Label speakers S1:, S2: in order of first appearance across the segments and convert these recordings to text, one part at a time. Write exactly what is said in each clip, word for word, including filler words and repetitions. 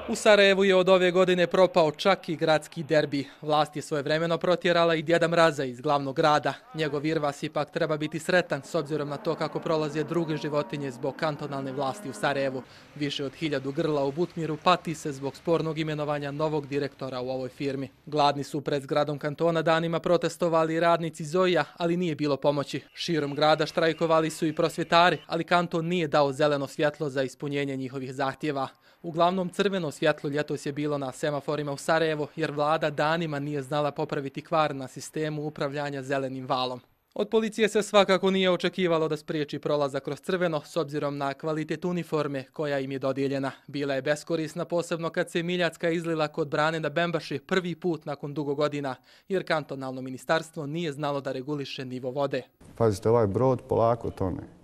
S1: U Sarajevu je od ove godine propao čak i gradski derbi. Vlast je svojevremeno protjerala i Djeda Mraza iz glavnog grada. Njegov Irvas ipak treba biti sretan s obzirom na to kako prolaze druge životinje zbog kantonalne vlasti u Sarajevu. Više od hiljadu grla u Butmiru pati se zbog spornog imenovanja novog direktora u ovoj firmi. Gladni su pred zgradom kantona danima protestovali radnici Zoija, ali nije bilo pomoći. Širom grada štrajkovali su i prosvjetari, ali kanton nije dao zeleno svjetlo za ispunjenje njihovih zahtjeva. Uglavnom crveno svjetlo ljetos je bilo na semaforima u Sarajevu, jer vlada danima nije znala popraviti kvar na sistemu upravljanja zelenim valom. Od policije se svakako nije očekivalo da spriječi prolazak kroz crveno s obzirom na kvalitet uniforme koja im je dodijeljena. Bila je beskorisna posebno kad se Miljacka izlila kod brane na Bembaši prvi put nakon dugo godina, jer kantonalno ministarstvo nije znalo da reguliše nivo vode.
S2: Pazite, ovaj brod polako tone.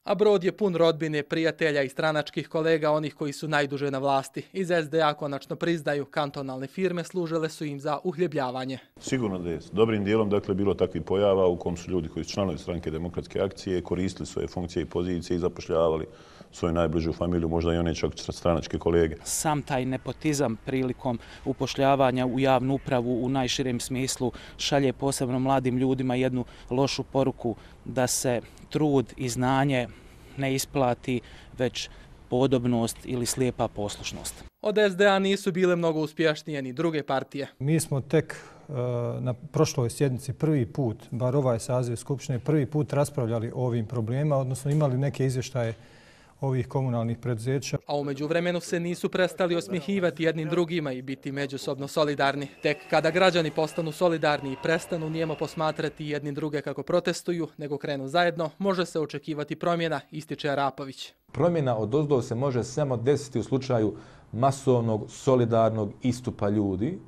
S1: A brod je pun rodbine, prijatelja i stranačkih kolega, onih koji su najduže na vlasti. Iz es de a konačno priznaju, kantonalne firme služile su im za uhljebljavanje.
S3: Sigurno da je dobrim dijelom dakle, bilo takvih pojava u kom su ljudi koji su članovi stranke Demokratske akcije koristili svoje funkcije i pozicije i zapošljavali svoju najbližu familiju, možda i one čak stranačke kolege.
S4: Sam taj nepotizam prilikom upošljavanja u javnu upravu u najširem smislu šalje posebno mladim ljudima jednu lošu poruku da se trud i znanje ne isplati, već podobnost ili slijepa poslušnost.
S1: Od es de a nisu bile mnogo uspješnije ni druge partije.
S5: Mi smo tek na prošloj sjednici prvi put, bar ovaj saziv Skupštine, prvi put raspravljali o ovim problemima, odnosno imali neke izvještaje ovih komunalnih preduzeća.
S1: A u međuvremenu se nisu prestali osmjehivati jednim drugima i biti međusobno solidarni. Tek kada građani postanu solidarni i prestanu nijemo posmatrati jedni druge kako protestuju, nego krenu zajedno, može se očekivati promjena, ističe Arapović.
S6: Promjena odozdo se može samo desiti u slučaju masovnog, solidarnog istupa ljudi.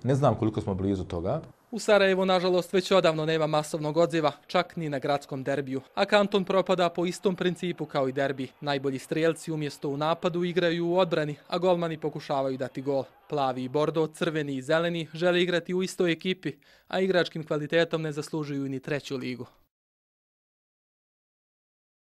S6: Ne znam koliko smo blizu toga.
S1: U Sarajevu, nažalost, već odavno nema masovnog odziva, čak ni na gradskom derbiju. A kanton propada po istom principu kao i derbi. Najbolji strijelci umjesto u napadu igraju u odbrani, a golmani pokušavaju dati gol. Plavi i bordo, crveni i zeleni žele igrati u istoj ekipi, a igračkim kvalitetom ne zaslužuju ni treću ligu.